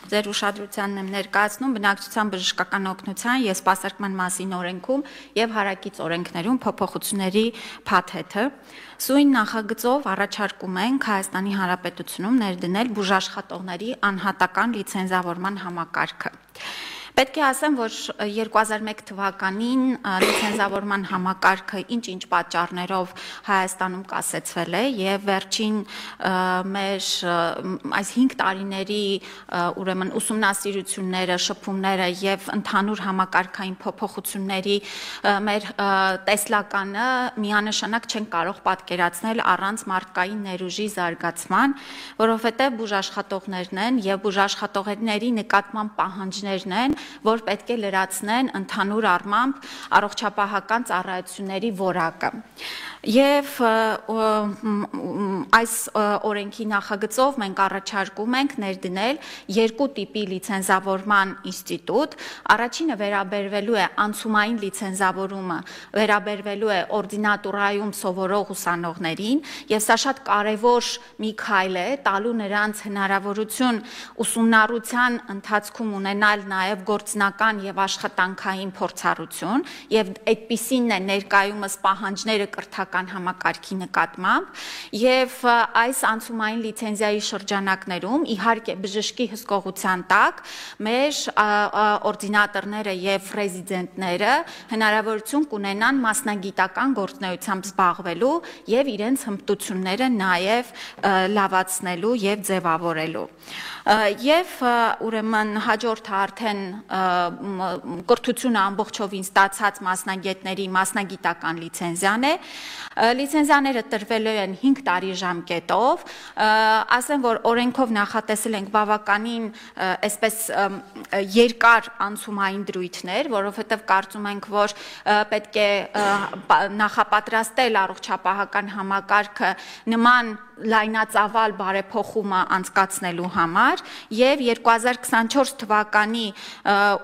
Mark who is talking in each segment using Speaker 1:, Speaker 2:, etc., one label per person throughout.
Speaker 1: Ձեր ուշադրությանն եմ ներկայացնում բնակչության բժշկական օգնության և սպասարկման մասին օրենքում և հարակից օրենքներում փոփոխությունների փաթեթը։ Սույն նախագծով առաջարկում ենք Հայաստանի Հանրապետությունում ներդնել բուժաշխատողների անհատական լիցենզավորման համակարգը։ Պետք է ասեմ, որ 2001 թվականին լիցենզավորման համակարգը ինչ-ինչ պատճառներով Հայաստանում կասեցվել է եւ վերջին մեր այս 5 տարիների ուրեմն ուսումնասիրությունները, շփումները եւ ընդհանուր համակարգային փոփոխությունների մեր տեսլականը միանշանակ չեն կարող պատկերացնել առանց մարդկային ներուժի զարգացման, որովհետեւ բուժաշխատողներն են եւ բուժաշխատողների նկատմամբ պահանջներն են, որ պետք է լրացնեն ընդհանուր առմամբ առողջապահական ծառայությունների որակը։ Եվ այս օրենքի նախագծով մենք առաջարկում ենք ներդնել երկու տիպի լիցենզավորման ինստիտուտ։ Առաջինը վերաբերվելու է անցումային լիցենզավորումը, վերաբերվելու է օրդինատուրայում սովորող ուսանողներին, եւ սա շատ կարեւոր մի քայլ է, տալու նրանց հնարավորություն ուսումնառության ընթացքում ունենալ նաեւ գործնական եւ աշխատանքային փորձառություն, եւ այդպիսին է ներկայումս պահանջները կրթական համակարգի նկատմամբ, եւ այս անցումային լիցենզիայի շրջանակներում իհարկե բժշկի հսկողության տակ մեր օրդինատորները եւ ռեզիդենտները հնարավորություն կունենան մասնագիտական գործունեությամբ զբաղվելու եւ իրենց հմտությունները նաեւ լավացնելու եւ ձևավորելու։ Եվ ուրեմն հաջորդը արդեն կրթությունը ամբողջովին ստացած մասնագետների մասնագիտական լիցենզիան է։ Լիցենզիաները տրվելու են 5 տարի ժամկետով, ասեմ, որ օրենքով նախատեսել ենք բավականին այսպես երկար անցումային դրույթներ, որովհետև կարծում ենք, որ պետք է նախապատրաստել առողջապահական համակարգը նման լայնածավալ բարեփոխումը անցկացնելու համար եւ 2024 թվականի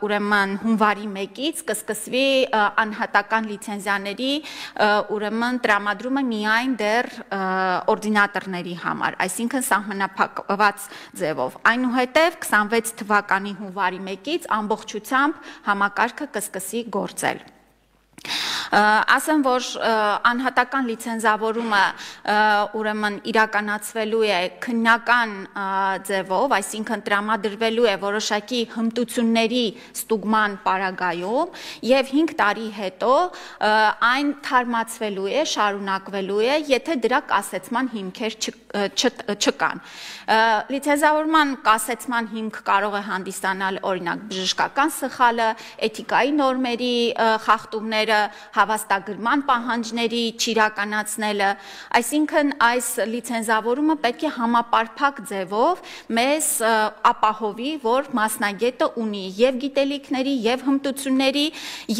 Speaker 1: ուրեմն հունվարի 1-ից կսկսվի անհատական լիցենզիաների ուրեմն տրամադրումը միայն դեռ օրդինատորների համար, այսինքն սահմանափակված ձևով։ Այնուհետև 26 թվականի հունվարի 1-ից ամբողջությամբ համակարգը կսկսի գործել։ Ասեմ, որ անհատական լիցենզավորումը ուրեմն իրականացվելու է քննական ձևով, այսինքն տրամադրվելու է որոշակի հմտությունների ստուգման պարագայում եւ 5 տարի հետո այն թարմացվելու է, շարունակվելու է, եթե դրա կասեցման հիմքեր չկան։ Լիցենզավորման կասեցման հիմք կարող է հանդիսանալ օրինակ բժշկական սխալը, էթիկայի նորմերի խախտումները, հավաստագրման պահանջների չիրականացնելը, այսինքն այս լիցենզավորումը պետք է համապարփակ ձևով մեզ ապահովի, որ մասնագետը ունի եւ գիտելիքների, եւ հմտությունների,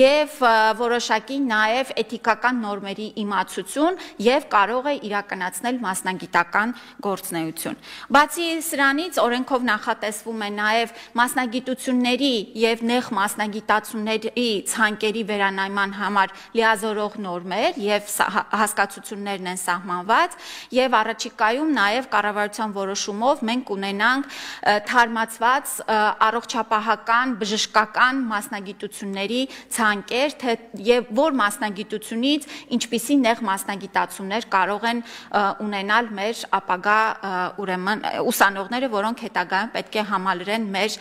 Speaker 1: եւ որոշակի նաեւ էթիկական նորմերի իմացություն եւ կարող է իրականացնել մասնագիտական գործունեություն։ Բացի սրանից օրենքով նախատեսվում է նաեւ մասնագիտությունների եւ նեղ մասնագիտացումների ցանկերի վերանայման համար լիազորող նորմեր եւ հասկացություններն են սահմանված եւ առաջիկայում նաեւ կառավարության որոշումով մենք ունենանք թարմացված առողջապահական բժշկական մասնագիտությունների ցանկեր, թե եւ որ մասնագիտությունից ինչպիսի նեղ մասնագիտացումներ կարող են ունենալ մեր ապագա ուրեմն ուսանողները, որոնք հետագայում պետք է համալրեն մեր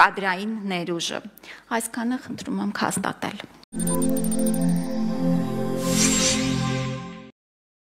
Speaker 1: կադրային ներուժը։ Այսքանը խնդրում եմ հաստատել։